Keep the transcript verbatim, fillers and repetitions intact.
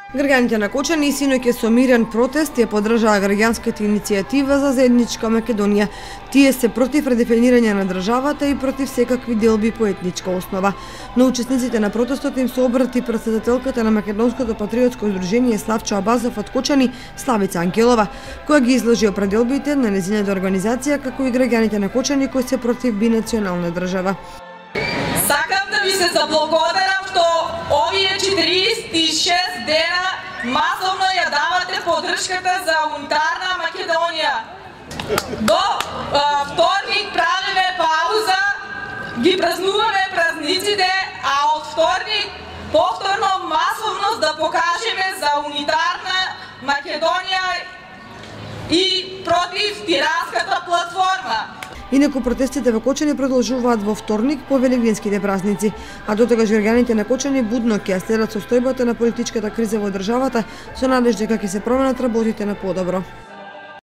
Граѓаните на Кочани синоќ со мирен протест ја поддржаа граѓанската иницијатива за заедничка Македонија. Тие се против редефинирање на државата и против секакви делби по етничка основа. На учесниците на протестот им се обрати претседателката на Македонското патриотско здружение Славчо Абазов од Кочани, Славица Ангелова, која ги изложи определбите на нејзината организација како и граѓаните на Кочани кои се против бинационална држава. Сакам да ви се заблагодарам што овие четириесет и шест дена масовно ја давате поддршката за унитарна Македонија. До а, вторник правиме пауза, ги празнуваме празниците, а од вторник повторно масовно да покажеме за унитарна Македонија и против тиранската платформа. Инаку протестите во Кочани продолжуваат во вторник по велигденските празници, а дотогаш граѓаните на Кочани будно ќе ја следат состојбата на политичката криза во државата со надеж дека ќе се променат работите на подобро.